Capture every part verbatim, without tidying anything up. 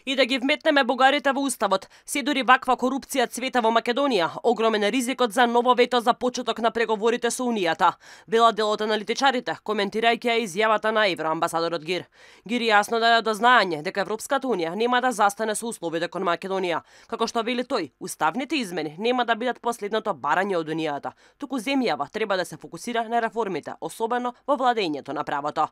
И да ги вметнеме бугарите во уставот, се дури ваква корупција цвета во Македонија, огромен е ризикот за ново вето за почеток на преговорите со Унијата, вела дел од аналитичарите, коментирајќи ја изјавата на евроамбасадорот Гир. Гир јасно даде до знаење дека Европската Унија нема да застане со условите кон Македонија, како што вели тој, уставните измени нема да бидат последното барање од Унијата, туку земјава треба да се фокусира на реформите, особено во владењето на правото.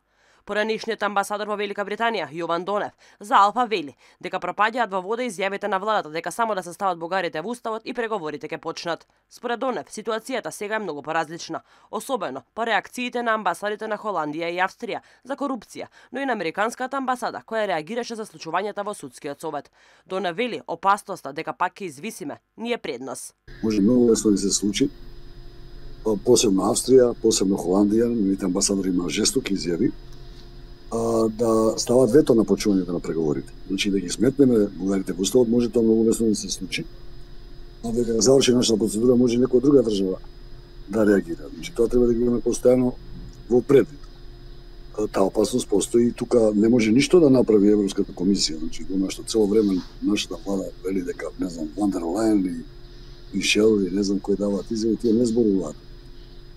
Поранишниот амбасадор во Велика Британија, Јован Донев, за Алфа вели дека пропаѓаат во вода изјавите на владата дека само да се стават бугарите во уставот и преговорите ќе почнат. Според Донев, ситуацијата сега е многу поразлична, особено по реакциите на амбасадите на Холандија и Австрија за корупција, но и на американската амбасада која реагираше за случувањата во судскиот совет. Донев вели опасноста дека пак ќе извисиме ни е пред нас. Може многу лесно да се случи, посебно Австрија, посебно Холандија, нивните амбасадори има жестоки изјави, да стават вето на почнувањето на преговорите. Значи да ги сметнеме бугарите во уставот, може тоа многу лесно да се случи. А дека заврши нашата процедура, може некоја друга држава да реагира. Значи тоа треба да ги имаме постојано во предвид. Таа опасност постои и тука не може ништо да направи Европската комисија. Значи она што цело време нашата влада вели дека не знам Ван дер Лајен и Мишел и не знам кои даваат изјави, тие не зборуваат.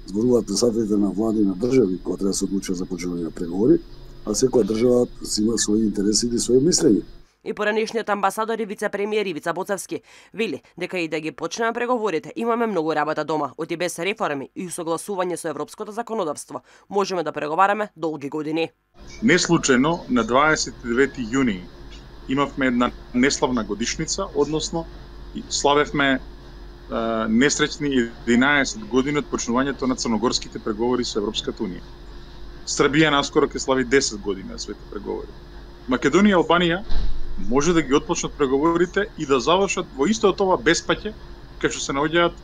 Зборуваат председателите на влади на држави кои треба да се одлучат за почнување на преговори, а секоја држава има своји интереси и своје мислење. И поранишниот амбасадор и вице-премиер Ивица Боцевски вели дека и да ги почнеме преговорите, имаме многу работа дома, оти без реформи и усогласување со европското законодавство. Можеме да преговараме долги години. Не случајно на дваесет и девети јуни имавме една неславна годишница, односно славевме е, несреќни единаесет години од почнувањето на црногорските преговори со Европската Унија. Србија наскоро ќе слави десет години на своите преговори. Македонија и Албанија може да ги отпочнат преговорите и да завршат во истото ова беспаќе кај што се наоѓаат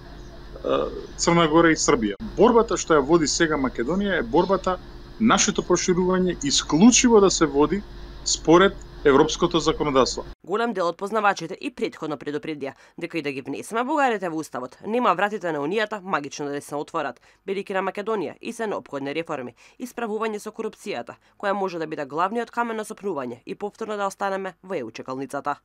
Црна Гора и Србија. Борбата што ја води сега Македонија е борбата нашето проширување исклучиво да се води според европското законодавство. Голем дел од познавачите и претходно предупредија дека и да ги внесеме бугарите во уставот, нема вратите на Унијата магично да се отворат, бидејќи на Македонија и се неопходни реформи и справување со корупцијата, која може да биде главниот камен на сопнување и повторно да останеме во е у чекалницата.